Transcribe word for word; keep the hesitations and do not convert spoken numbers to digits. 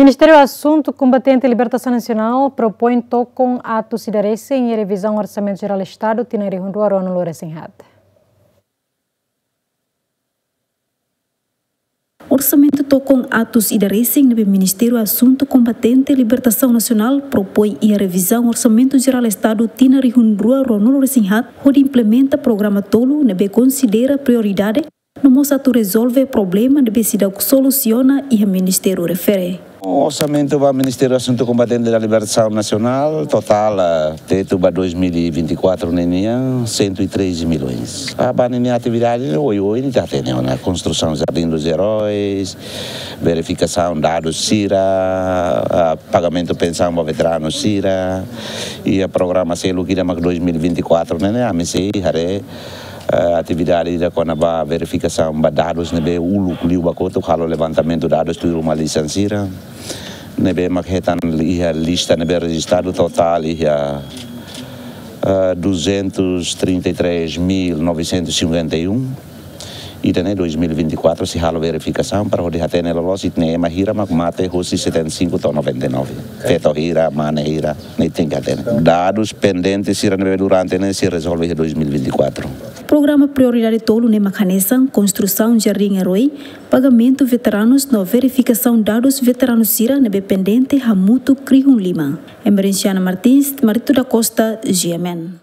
Ministériu Asuntu Kombatente Libertasaun Nasionál propoin tokon atus ida resin iha revizaun Orsamentu Jerál Estadu tinan rihun rua ruanulu resin haat. Orsamentu tokon atus ida resin ne'ebé Ministériu Asuntu Kombatente Libertasaun Nasionál propoin iha revizaun Orsamentu Jerál Estadu tinan rihun rua ruanulu resin haat hodi implementa programa tolu ne'ebé konsidera prioridade no mós atu rezolve problema ne'ebé seidauk solusiona iha ministériu refere. Orsamentu ba Ministériu Asuntu Kombatente da Libertasaun Nasionál, totál, ah, tetu ba dois mil e vinte e quatro ne'e nian, cento e treze milhões. Ah, ba ninia atividade, oioin, ita hatene ona konstrusaun Jardim dos Heróis, verifikasaun dadus sira, ah, pagamentu pensaun ba veteranu sira, iha programa seluk ida mak dois mil e vinte e quatro ne'e, ne'e, ami sei haree, eh, atividade ida kona-ba verifikasaun ba dadus ne'ebé uluk liu ba kotuk, halo levantamentu dadus tuir uma lisan sira. Ne'ebé mak hetan iha lista ne'ebé rejistadu totál iha, eh, duzentos trinta e três mil novecentos e cinquenta e um. Ida-ne'e dois mil e vinte e quatro sei halo verifikasaun para hodi hatene loloos ita-nia ema hira mak mate husi setenta e cinco to'o noventa e nove. Feto hira, mane hira, ne'e tenke hatene. Dadus pendente sira ne'ebé durante ne'e sei rezolve iha dois mil e vinte e quatro. Programa prioridade tolu ne'e mak hanesan konstrusaun Jardim Herói, pagamentu veteranus no verifikasaun dadus veteranus sira ne'ebé pendente hamutuk rihun lima. Emerenciana Martins, Marito da Costa, G M N.